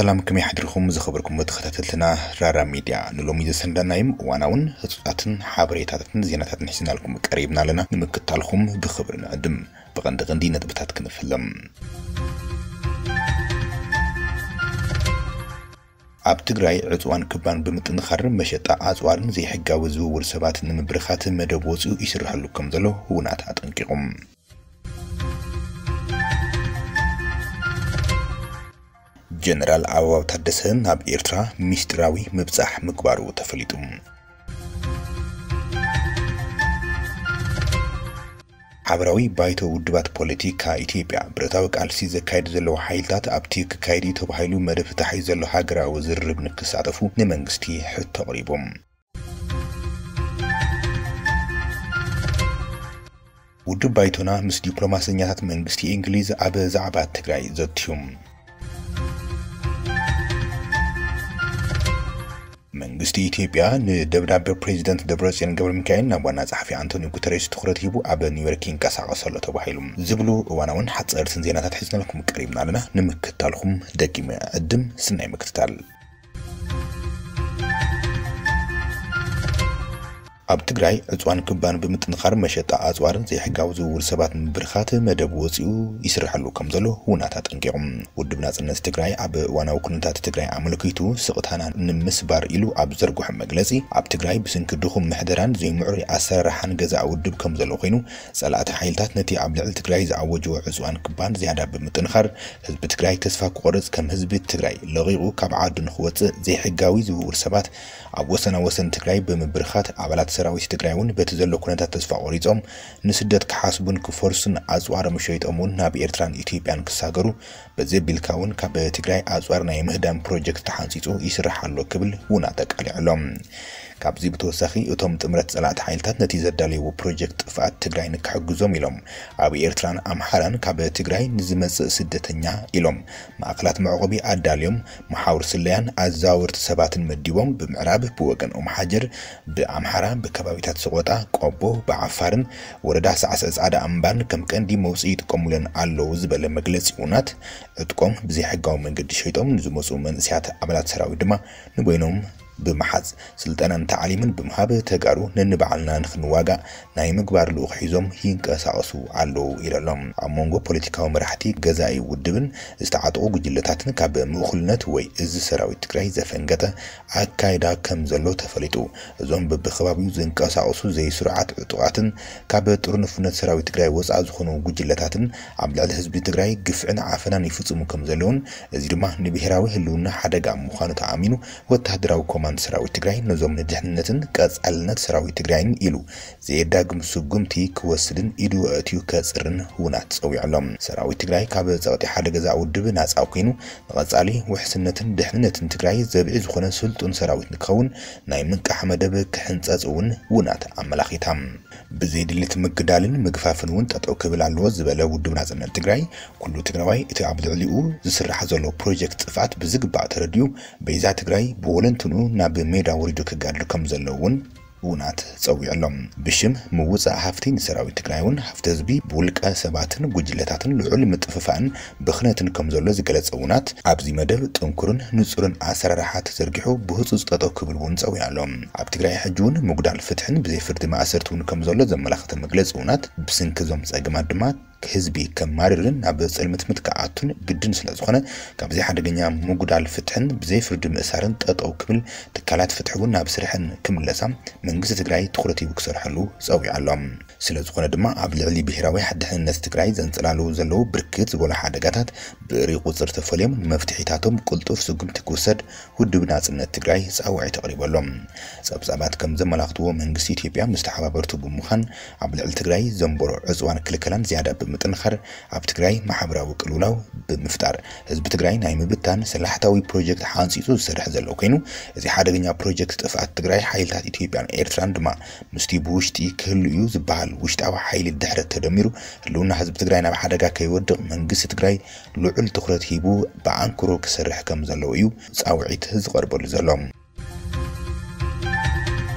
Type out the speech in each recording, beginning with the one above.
ሰላም፣ ከመይ ሓድርኩም ዝኸበርኩም ተኸታተልትና ራራ ሚድያ? ንሎሚ ዘሰንዳናዮም እዋናውን ህጹጻትን ሓበሬታታትን ዜናታትን ሒዝናልኩም ቀሪብና ኣለና። ንምክታልኩም ብኽብሪ ንዕድም። ብቐንዲ ቀንዲ ነጥብታት ክንፍለም። ኣብ ትግራይ ዕጽዋን ክባን ብምጥንኻርን መሸጣ ኣጽዋርን ዘይሕጋዊ ዝውውር ሰባት ንምብርኻት መደብ ወጺኡ ይስርሐሉ ከም ዘሎ ውናት ኣጠንቂቑም። ጀነራል ኣበባው ታደሰ ናብ ኤርትራ ሚስጢራዊ ምብጻሕ ምግባሩ ተፈሊጡ። ሓበራዊ ባይቶ ውድባት ፖለቲካ ኢትዮጵያ፣ ብረታዊ ቃልሲ ዘካይዱ ዘለዉ ሓይልታት ኣብቲ ክካየድ እዩ ተባሂሉ መደብ ተታሒዙ ዘሎ ሃገራዊ ዝርርብ ንክሳተፉ ንመንግስቲ ሕቶ ኣቕሪቦም። ውድብ ባይቶና ምስ ዲፕሎማሰኛታት መንግስቲ እንግሊዝ ኣብ ዛዕባ ትግራይ ዘትዮም። መንግስቲ ኢትዮጵያ ንደብዳቤ ፕሬዚደንት ደብረጽዮን ገብረ ሚካኤል ናብ ዋና ጸሓፊ ኣንቶኒዮ ጉተሬስ ትኹረት ሂቡ ኣብ ኒውዮርክ ይንቀሳቐስ ኣሎ ተባሂሉ ዝብሉ እዋናውን ሓጸርትን ዜናታት ሒዝናልኩም ቀሪብና ኣለና። ንምክታልኩም ደጊመ ዕድም ስናይ ምክትታል። ኣብ ትግራይ ዕፅዋን ክባን ብምጥንኻር መሸጣ ኣፅዋርን ዘይሕጋዊ ዝውውር ሰባት ንምብርኻት መደብ ወፂኡ ይስርሐሉ ከም ዘሎ ውናት ኣጠንቂቖም። ውድብ ናፅነት ትግራይ ኣብ እዋናዊ ኩነታት ትግራይ ኣመልኪቱ ስቕታና ንምስባር ኢሉ ኣብ ዘርግሖ መግለፂ፣ ኣብ ትግራይ ብስንኪ ድኹም ምሕደራን ዘይምዕሩይ ኣሰራርሓን ገዛእ ውድብ ከም ዘሎ ኮይኑ፣ ፀላእቲ ሓይልታት ነቲ ኣብ ልዕሊ ትግራይ ዝኣወጅዎ ዕፅዋን ክባን ዝያዳ ብምጥንኻር፣ ህዝቢ ትግራይ ተስፋ ክቆርፅ፣ ከም ህዝቢ ትግራይ ለቒቑ ካብ ዓዱ ንክወፅእ፣ ዘይሕጋዊ ዝውውር ሰባት ኣብ ወሰና ወሰን ትግራይ ብምብርኻት፣ ኣባላት ሰራዊት ትግራይ እውን በቲ ዘሎ ኩነታት ተስፋ ቆሪፆም ንስደት ክሓስቡን ክፈርሱን ኣፅዋሮም ሸይጦም እውን ናብ ኤርትራን ኢትዮጵያን ክሳገሩ፣ በዚ ኣቢልካ እውን ካብ ትግራይ ኣፅዋር ናይ ምህዳን ፕሮጀክት ተሓንፂፁ ይስራሕ ኣሎ ክብል ውናት ኣቃሊዑ ኣሎ። ካብዚ ብተወሳኺ እቶም ጥምረት ፀላእቲ ሓይልታት ነቲ ዘዳለይዎ ፕሮጀክት ጥፍኣት ትግራይ ንክሕግዞም ኢሎም ኣብ ኤርትራን ኣምሓራን ካብ ትግራይ ንዝመፅእ ስደተኛ ኢሎም ማእኸላት መዕቆቢ ኣዳልዮም፣ መሓውር ስለያን ኣዘዋወርቲ ሰባትን መዲቦም፣ ብምዕራብ ብወገን ኦምሓጀር፣ ብኣምሓራ ብከባቢታት ሰቆጣ፣ ቆቦ፣ ብዓፋርን ወረዳ ሳዕስዕ ጻዕዳ ኣምባን ከም ቀንዲ መውፅኢ ይጥቀሙለን ኣለዉ ዝበለ መግለፂ ውናት፣ ዕጥቆም ብዘይሕጋዊ መንገዲ ሸይጦም ንዝመፁ መንእሰያት ኣባላት ሰራዊት ድማ ንበይኖም ብምሓዝ፣ ስልጠናን ታዕሊምን ብምሃብ፣ ተጋሩ ነንባዕልና ንክንዋጋእ ናይ ምግባር ልኡኽ ሒዞም ይንቀሳቐሱ ኣለዉ ኢሉ ኣሎ። ኣብ መንጎ ፖለቲካዊ መራሕቲ ገዛኢ ውድብን ዝተዓጠቑ ጉጅለታትን ካብ ምእኩልነት ወይ እዚ ሰራዊት ትግራይ ዘፈንገጠ ኣካይዳ ከም ዘሎ ተፈሊጡ። እዞም በብከባቢኡ ዝንቀሳቐሱ ዘይስሩዓት ዕጡቓትን ካብ ጥርንፉነት ሰራዊት ትግራይ ወፃእ ዝኾኑ ጉጅለታትን ኣብ ልዕሊ ህዝቢ ትግራይ ግፍዕን ዓፈናን ይፍፅሙ ከም ዘለውን፣ እዚ ድማ ንብሄራዊ ህልውና ሓደጋ ምዃኑ ተኣሚኑ፣ ወታደራዊ ኮማንድ ሰራዊት ትግራይ ነዞም ንድሕንነትን ቀፃልነት ሰራዊት ትግራይን ኢሉ ዘየዳግም ስጉምቲ ክወስድን ኢዱ ኣእትዩ ከፅርን ውናት ፀዊዑ ኣሎ። ሰራዊት ትግራይ ካብ ፀቕጢ ሓደ ገዛ ውድብ ናፃ ኮይኑ፣ ንቐፃሊ ውሕስነትን ድሕንነትን ትግራይ ዘብዒ ዝኾነ ስልጡን ሰራዊት ንክኸውን ናይ ምንቃሕ መደብ ክሕንፀፅ እውን ውናት ኣመላኺታ። ብዘይ ድሌት ምግዳልን ምግፋፍን እውን ጠጠው ክብል ኣለዎ ዝበለ ውድብ ናፅነት ትግራይ፣ ኩሉ ትግራዋይ እቲ ኣብ ልዕሊኡ ዝስራሕ ዘሎ ፕሮጀክት ጥፍኣት ብዝግባእ ተረዲኡ፣ በይዛ ትግራይ ብወለንትንኡ ናብ ሜዳ ወሪዱ ክጋድል ከም ዘለዎ እውን ውናት ፀዊዑ ኣሎ። ብሽም ምውፃእ ሃፍቲ ንሰራዊት ትግራይ እውን ሃፍቲ ህዝቢ ብውልቀ ሰባትን ጉጅለታትን ልዑል ምጥፍፋእን ብኽነትን ከም ዘሎ ዝገለፀ ውናት፣ ኣብዚ መደብ ጥንኩርን ንፁርን ኣሰራርሓ ተዘርጊሑ ብህፁፅ ጠጠው ክብል እውን ፀዊዑ ኣሎ። ኣብ ትግራይ ሕጂ እውን ምጉዳል ፍትሕን ብዘይ ፍርዲ ማእሰርቲ እውን ከም ዘሎ ዘመላኽተ መግለፂ ውናት፣ ብስንኪ እዞም ፀገማት ድማ ህዝቢ ከማርርን ናብ ፅልምትምት ክኣቱን ግድን ስለ ዝኾነ፣ ካብዚ ሓደገኛ ምጉዳል ፍትሕን ብዘይ ፍርዲ ምእሳርን ጠጠው ክብል፣ ትካላት ፍትሒ እውን ናብ ስርሐን ክምለሳ መንግስቲ ትግራይ ትኹረት ሂቡ ክሰርሐሉ ፀዊዑ ኣሎ። ስለ ዝኾነ ድማ ኣብ ልዕሊ ብሄራዊ ድሕንነት ትግራይ ዘንፀላልዉ ዘለዉ ብርክት ዝበሉ ሓደጋታት ብእሪ ቁፅሪ ተፈልዮም ንመፍትሒታቶም ቅልጡፍ ስጉምቲ ክውሰድ ውድብ ናፅነት ትግራይ ፃውዒት ኣቕሪቡ ኣሎ። ፀብፃባት ከም ዘመላኽትዎ መንግስቲ ኢትዮጵያ ምስ ተሓባበርቱ ብምዃን ኣብ ልዕሊ ትግራይ ዘንበሮ ዕፅዋን ክልከላን ዝያዳ ብምጥንኻር ኣብ ትግራይ ማሕበራዊ ቅልውላው ብምፍጣር ህዝቢ ትግራይ ናይ ምብታን ሰላሕታዊ ፕሮጀክት ሓንፂፁ ዝሰርሕ ዘሎ ኮይኑ እዚ ሓደገኛ ፕሮጀክት ጥፍኣት ትግራይ ሓይልታት ኢትዮጵያን ኤርትራን ድማ ምስቲ ብውሽጢ ክህሉ እዩ ዝበሃል ውሽጣዊ ሓይሊ ድሕረት ተደሚሩ ህልውና ህዝቢ ትግራይ ናብ ሓደጋ ከይወድቕ መንግስቲ ትግራይ ልዑል ትኹረት ሂቡ ብኣንክሮ ክሰርሕ ከም ዘለዎ እዩ ፃውዒት ዝቐርበሉ ዘሎ።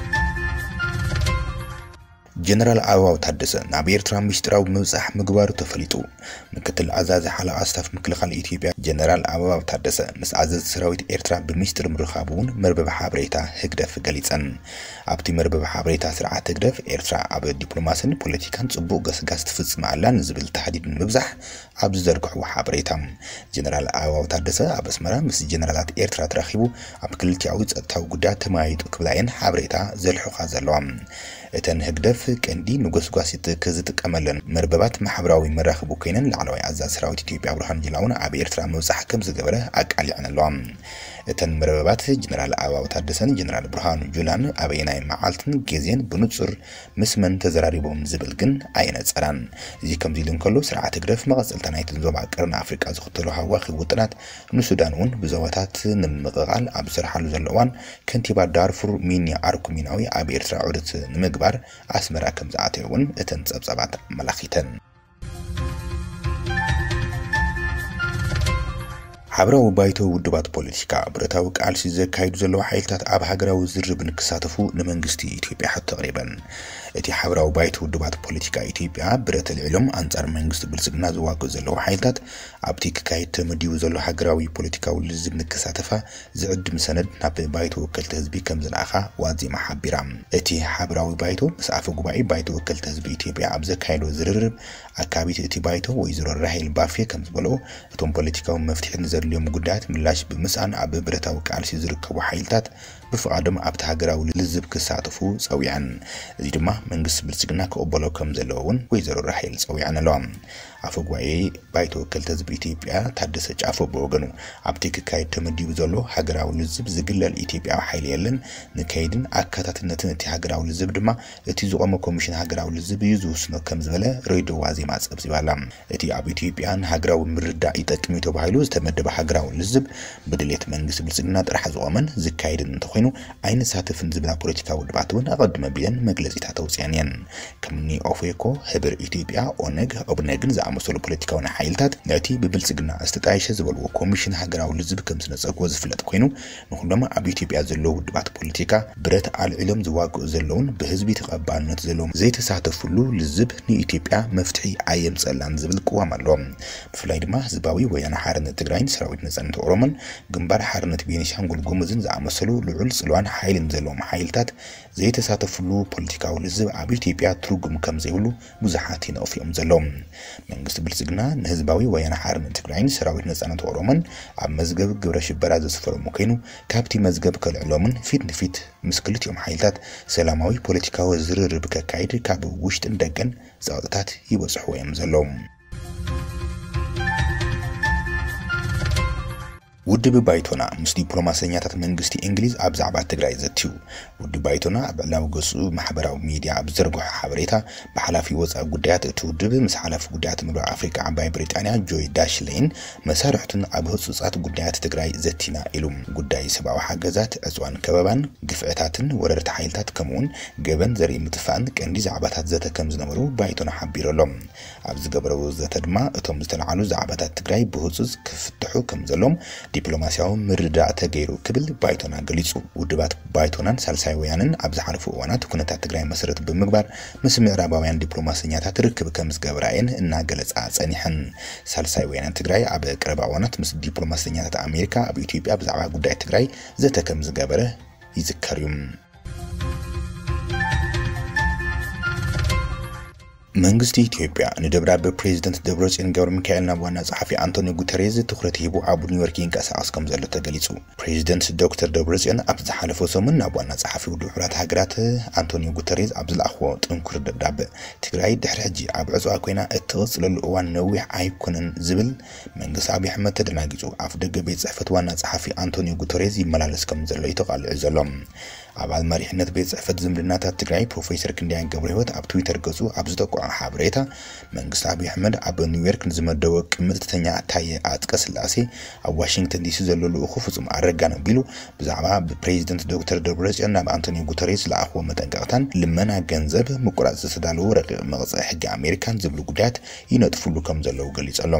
ጀነራል ኣበባው ታደሰ ናብ ኤርትራ ምስጢራዊ ምብጻሕ ምግባሩ ተፈሊጡ። ምክትል ኣዛዚ ሓለቓ ስታፍ ምክልኻል ኢትዮጵያ ጀነራል ኣበባው ታደሰ ምስ ኣዘዝቲ ሰራዊት ኤርትራ ብምስጢር ምርኻቡ እውን መርበብ ሓበሬታ ህግደፍ ገሊጸን። ኣብቲ መርበብ ሓበሬታ፣ ስርዓት ህግደፍ ኤርትራ ኣብ ዲፕሎማስን ፖለቲካን ጽቡቕ ገስጋስ ትፍጽም ኣላ ንዝብል ታህዲድ ንምብዛሕ ኣብ ዝዘርግሕዎ ሓበሬታ፣ ጀነራል ኣበባው ታደሰ ኣብ ኣስመራ ምስ ጀነራላት ኤርትራ ተራኺቡ ኣብ ክልቲኣዊ ጸጥታዊ ጉዳያት ተመያይጡ ክብላ እየን ሓበሬታ ዘልሑኻ ዘለዋ። እተን ህግደፍ ቀንዲ ንጎስጓሲት ዝጥቀመለን መርበባት ማሕበራዊ መራኽቢ ኮይነን፣ ላዕለዋይ ኣዛዚ ሰራዊት ኢትዮጵያ ብርሃኑ ጁላ እውን ኣብ ኤርትራ ምብጻሕ ከም ዝገበረ ኣቃሊዐን ኣለዋ። እተን መርበባት ጀነራል ኣበባው ታደሰን ጀነራል ብርሃኑ ጁላን ኣበየናይ መዓልትን ግዜን ብንጹር ምስ መን ተዘራሪቦም ዝብል ግን ኣየነጸራን። እዚ ከምዚ ኢሉ እንከሎ፣ ስርዓት ህግደፍ መቐጸልታ ናይተን ዞባ ቀርኒ ኣፍሪቃ ዝኽተሎ ሃዋኺ ውጥናት ንሱዳን እውን ብዞባታት ንምምቕቓል ኣብ ዝሰርሓሉ ዘሎ እዋን፣ ከንቲባ ዳርፉር ሚኒ ኣርኩሚናዊ ኣብ ኤርትራ ዑደት ንምግባር ኣስመራ ከም ዝኣተየ እውን እተን ጸብጻባት ኣመላኺተን። ሓብራዊ ባይቶ ውድባት ፖለቲካ፣ ብረታዊ ቃልሲ ዘካይዱ ዘለዉ ሓይልታት ኣብ ሃገራዊ ዝርርብ ንክሳተፉ ንመንግስቲ ኢትዮጵያ ሕቶ ኣቕሪበን። እቲ ሓብራዊ ባይቶ ውድባት ፖለቲካ ኢትዮጵያ፣ ብረት ኣልዒሎም ኣንጻር መንግስቲ ብልጽግና ዝዋግኡ ዘለዉ ሓይልታት ኣብቲ ክካየድ ተመዲቡ ዘሎ ሃገራዊ ፖለቲካዊ ልዝብ ንክሳተፋ ዝዕድም ሰነድ ናብ ባይቶ ወከልቲ ህዝቢ ከም ዝለኣኻ ዋዜማ ሓቢራ። እቲ ሓብራዊ ባይቶ ምስ ኣፈ ጉባኤ ባይቶ ወከልቲ ህዝቢ ኢትዮጵያ ኣብ ዘካየዶ ዝርርብ፣ ኣካቢት እቲ ባይቶ ወይዘሮ ራሄል ባፌ ከም ዝበልኦ፣ እቶም ፖለቲካዊ መፍትሒ ንዘድልዮም ጉዳያት ምላሽ ብምስኣን ኣብ ብረታዊ ቃልሲ ዝርከቡ ሓይልታት ብፍቓዶም ኣብቲ ሃገራዊ ልዝብ ክሳተፉ ጸዊዐን። እዚ ድማ መንግስቲ ብልጽግና ክቕበሎ ከም ዘለዎ እውን ወይዘሮ ራሄል ጸዊዐን ኣለዋ። ኣፈ ጉባኤ ባይቶ ወከልቲ ህዝቢ ኢትዮጵያ ታደሰ ጫፎ ብወገኑ፣ ኣብቲ ክካየድ ተመዲቡ ዘሎ ሃገራዊ ልዝብ ዝግለል ኢትዮጵያዊ ሓይሊ የለን፣ ንከይድን ኣካታትነትን እቲ ሃገራዊ ልዝብ ድማ እቲ ዝቖመ ኮሚሽን ሃገራዊ ልዝብ እዩ ዝውስኖ ከም ዝበለ ሬድዮ ዋዜማ ጸብጺባ ኣላ። እቲ ኣብ ኢትዮጵያ ንሃገራዊ ምርዳእ ይጠቅም እዩ ተባሂሉ ዝተመደበ ሃገራዊ ልዝብ ብድሌት መንግስቲ ብልጽግና ጥራሕ ዝቖመን ዝካየድን እንተኾይኑ ኣይንሳተፍን ዝብላ ፖለቲካዊ ውድባት እውን ኣቐድመ ቢለን መግለጺታት ኣውጺኣን እየን። ከምኒ ኦፌኮ፣ ህብር ኢትዮጵያ፣ ኦነግ፣ ኦብነግን ዝኣመሰሉ ፖለቲካውያን ሓይልታት ነቲ ብብልጽግና ዝተጣየሸ ዝበልዎ ኮሚሽን ሃገራዊ ልዝብ ከም ዝነጸግዎ ዝፍለጥ ኮይኑ፣ ንኹሎም ኣብ ኢትዮጵያ ዘለዉ ውድባት ፖለቲካ ብረት ኣልዒሎም ዝዋግኡ ዘለውን ብህዝቢ ተቐባልነት ዘለዎም ዘይተሳተፍሉ ልዝብ ንኢትዮጵያ መፍትሒ ኣየምጸላን ዝብል ቅዋም ኣሎ። ብፍላይ ድማ ህዝባዊ ወያነ ሓርነት ትግራይን ሰራዊት ነጻነት ኦሮሞን ግንባር ሓርነት ቤኒሻንጉል ጉሙዝን ዝኣመሰሉ ልዑል ጽልዋን ሓይልን ዘለዎም ሓይልታት ዘይተሳተፍሉ ፖለቲካዊ ልዝብ ኣብ ኢትዮጵያ ትርጉም ከም ዘይብሉ ብዙሓት ይነቕፉ እዮም ዘለዉ። መንግስቲ ብልጽግና ንህዝባዊ ወያነ ሓርነት ትግራይን ሰራዊት ነጻነት ኦሮሞን ኣብ መዝገብ ግብረ ሽበራ ዘስፈሮም ኮይኑ፣ ካብቲ መዝገብ ከልዕሎምን ፊት ንፊት ምስ ክልቲኦም ሓይልታት ሰላማዊ ፖለቲካዊ ዝርርብ ከካይድ ካብ ውሽጥን ደገን ጸቕጥታት ይበጽሕዎ እዮም ዘለዉ። ውድብ ባይቶና ምስ ዲፕሎማሰኛታት መንግስቲ እንግሊዝ ኣብ ዛዕባ ትግራይ ዘትዩ። ውድብ ባይቶና ኣብ ዕላዊ ገጹ ማሕበራዊ ሚድያ ኣብ ዝዘርግሖ ሓበሬታ፣ ብሓላፊ ወጻኢ ጉዳያት እቲ ውድብ ምስ ሓላፊ ጉዳያት ምብራቕ ኣፍሪቃ ዓባይ ብሪጣንያ ጆይ ዳሽሌን መሳርሕቱን ኣብ ህጹጻት ጉዳያት ትግራይ ዘቲና ኢሉ። ጉዳይ ሰብኣዊ ሓገዛት፣ ዕጽዋን ከበባን፣ ግፍዕታትን ወረርቲ ሓይልታት ከምኡውን ገበን ዘርኢ ምጥፋእን ቀንዲ ዛዕባታት ዘተ ከም ዝነበሩ ባይቶና ሓቢሩ ኣሎ። ኣብ ዝገበረዎ ዘተ ድማ እቶም ዝተልዓሉ ዛዕባታት ትግራይ ብህጹጽ ክፍትሑ ከም ዘሎም ዲፕሎማስያዊ ምርድዳእ ተገይሩ ክብል ባይቶና ገሊጹ። ውድባት ባይቶናን ሳልሳይ ወያንን ኣብ ዝሓለፉ እዋናት ኩነታት ትግራይ መሰረት ብምግባር ምስ ምዕራባውያን ዲፕሎማሰኛታት ርክብ ከም ዝገብራ እየን እናገለጻ ጸኒሐን። ሳልሳይ ወያነ ትግራይ ኣብ ቀረባ እዋናት ምስ ዲፕሎማሰኛታት ኣሜሪካ ኣብ ኢትዮጵያ ብዛዕባ ጉዳይ ትግራይ ዘተ ከም ዝገበረ ይዝከር እዩ። መንግስቲ ኢትዮጵያ ንደብዳበ ፕሬዚደንት ደብረጽዮን ገብረ ሚካኤል ናብ ዋና ጸሓፊ ኣንቶኒዮ ጉተሬዝ ትኹረት ሂቡ ኣብ ኒውዮርክ ይንቀሳቐስ ከም ዘሎ ተገሊጹ። ፕሬዚደንት ዶክተር ደብረጽዮን ኣብ ዝሓለፈ ሰሙን ናብ ዋና ጸሓፊ ውድብ ሕቡራት ሃገራት ኣንቶኒዮ ጉተሬዝ ኣብ ዝለኣኽዎ ጥንኩር ደብዳበ፣ ትግራይ ድሕሪ ሕጂ ኣብ ዕጽዋ ኮይና እትቕጽለሉ እዋን ነዊሕ ኣይኮነን ዝብል መንግስቲ ኣብይ ኣሕመድ ተደናጊጹ ኣፍ ደገ ቤት ጽሕፈት ዋና ጸሓፊ ኣንቶኒዮ ጉተሬዝ ይመላለስ ከም ዘሎ እዩ ተቓሊዑ ዘሎ። ኣባል መሪሕነት ቤት ጽሕፈት ዝምድናታት ትግራይ ፕሮፌሰር ክንደያ ገብረ ህይወት ኣብ ትዊተር ገጹ ኣብ ዝጠቅዖ ሓበሬታ፣ መንግስቲ ኣብይ ኣሕመድ ኣብ ኒውዮርክ ንዝመደቦ ቅምጥተኛ ታየ ኣጽቀ ስላሴ ኣብ ዋሽንግተን ዲሲ ዘሎ ልኡኹ ፍጹም ኣረጋን ኣቢሉ ብዛዕባ ብፕሬዚደንት ዶክተር ደብረጽዮን ናብ ኣንቶኒዮ ጉተሬስ ዝለኣኽዎ መጠንቀቕታን ልመና ገንዘብ ምቁራጽ ዝተዳለወ ረቂቕ መቕጽዒ ሕጊ ኣሜሪካን ዝብሉ ጉዳያት ይነጥፍሉ ከም ዘለዉ ገሊጹ ኣሎ።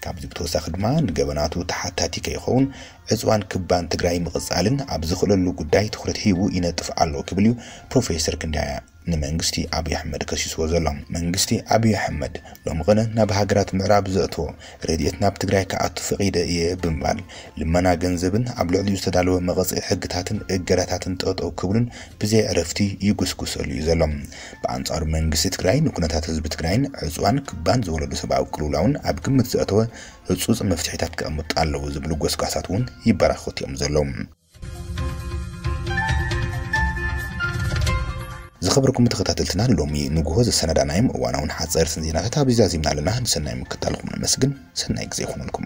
ካብዚ ብተወሳኺ ድማ ንገበናቱ ተሓታቲ ከይኸውን ዕጽዋን ክባን ትግራይ ምቕጻልን ኣብ ዝኽእለሉ ጉዳይ ትኹረት ሂቡ ይነጥፍ ኣሎ ክብል እዩ ፕሮፌሰር ክንደያ ንመንግስቲ ኣብይ ኣሕመድ ከሲስዎ ዘሎ። መንግስቲ ኣብይ ኣሕመድ ሎሚ ቅነ ናብ ሃገራት ምዕራብ ዘእትዎ ረድኤት ናብ ትግራይ ክኣቱ ፈቒደ እየ ብምባል፣ ልመና ገንዘብን ኣብ ልዕሊኡ ዝተዳለወ መቐጽዒ ሕግታትን እገዳታትን ጠጠው ክብሉን ብዘይ ዕረፍቲ ይጉስጉሰሉ እዩ ዘሎ። ብኣንጻሩ መንግስቲ ትግራይ ንኩነታት ህዝቢ ትግራይን ዕፅዋን ክባን ዝወለዱ ሰብኣዊ ቅልውላውን ኣብ ግምት ዘእተወ ህፁፅ መፍትሒታት ክቐምጡ ኣለዉ ዝብሉ ጎስጓሳት እውን ይበራኸቱ እዮም ዘለዉ። ዝኸበርኩም ተኸታተልትና፣ ሎሚ ንግሆ ዘሰናዳናዮም እዋናውን ሓፀርትን ዜናታት ኣብዚ ዛዚምና ኣለና። ንሰናይ ምክታልኩም ነመስግን። ሰናይ ግዜ ይኹነልኩም።